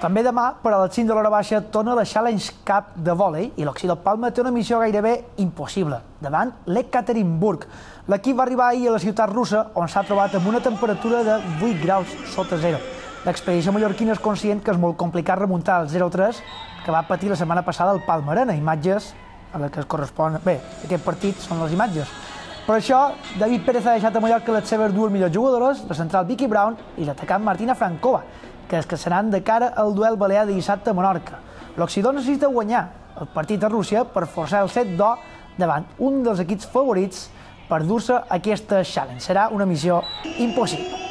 També demà, per a les 5 de l'hora baixa, torna la Challenge Cup de vòlei i l'Occità del Palma té una missió gairebé impossible, davant l'Ekaterinburg. L'equip va arribar ahir a la ciutat russa, on s'ha trobat amb una temperatura de 8 graus sota zero. L'expedició mallorquina és conscient que és molt complicat remuntar el 0-3 que va patir la setmana passada al Palma Arena. Imatges a les que es correspon... Bé, aquest partit són les imatges. Per això, David Pérez ha deixat a Mallorca les seves dues millors jugadores, la central Vicky Brown i l'atacant Martina Frankova, que es casaran de cara al duel balear de dissabte a Menorca. L'Occità necessita guanyar el partit a Rússia per forçar el set d'or davant un dels equips favorits per dur-se aquesta challenge. Serà una missió impossible.